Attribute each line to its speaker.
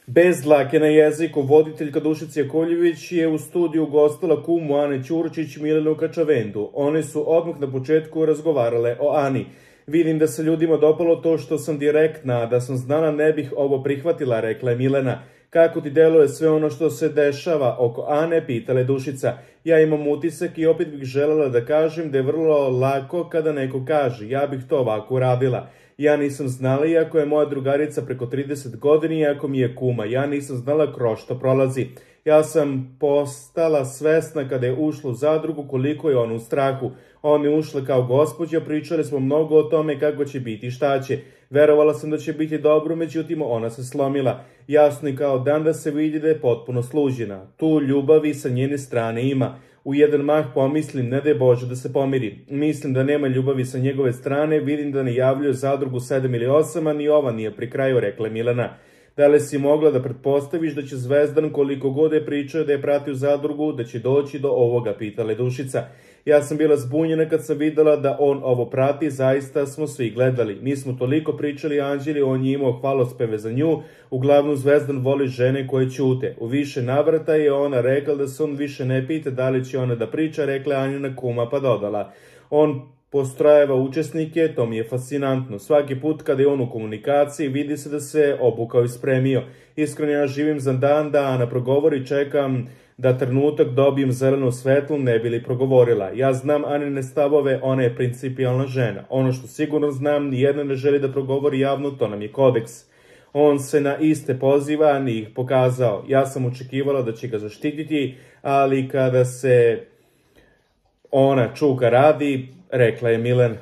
Speaker 1: Bez dlake na jeziku, voditeljka Dušica Jakovljević je u studiju gostila kumu Ane Ćurčić, Milenu Kačavendu. One su odmah na početku razgovarale o Ani. Vidim da se ljudima dopalo to što sam direktna, da sam znala ne bih ovo prihvatila, rekla je Milena. Kako ti deluje sve ono što se dešava oko Ane, pitala je Dušica. Ja imam utisak i opet bih želela da kažem da je vrlo lako kada neko kaže. Ja bih to ovako uradila. Ja nisam znala, iako je moja drugarica preko 30 godina, iako mi je kuma. Ja nisam znala kroz što prolazi. Ja sam postala svesna kada je ušla u zadrugu koliko je ona u strahu. Ona je ušla kao gospođa, pričali smo mnogo o tome kako će biti, šta će. Verovala sam da će biti dobro, međutim ona se slomila. Jasno je kao dan da se vidi da je potpuno sluđena. Tu ljubavi sa njene strane ima. U jedan mah pomislim, ne daj Bože da se pomiri. Mislim da nema ljubavi sa njegove strane, vidim da ne javljaju zadrugu 7 ili 8, a ni ova nije pri kraju, rekla Milena. Da li si mogla da pretpostaviš da će Zvezdan, koliko god je pričao da je pratio zadrugu, da će doći do ovoga, pitala je Dušica. Ja sam bila zbunjena kad sam videla da on ovo prati, zaista smo svi gledali. Mi smo toliko pričali Anđeli, on je imao hvalospeve za nju, uglavnom Zvezdan voli žene koje ćute. U više navrata je ona rekla da se on više ne pita da li će ona da priča, rekla Anjina kuma pa dodala. On postrojava učesnike, to mi je fascinantno. Svaki put kada je on u komunikaciji vidi se da se obukao i spremio. Iskreno ja živim za dan da Ana progovori, čekam da trenutak dobijem zeleno svetlo, ne bi li progovorila. Ja znam Anine stavove, ona je principijalna žena. Ono što sigurno znam, nijedna ne želi da progovori javno, to nam je kodeks. On se na iste poziva, ni ih pokazao. Ja sam očekivala da će ga zaštititi, ali kada se ona čuka radi, rekla je Milena.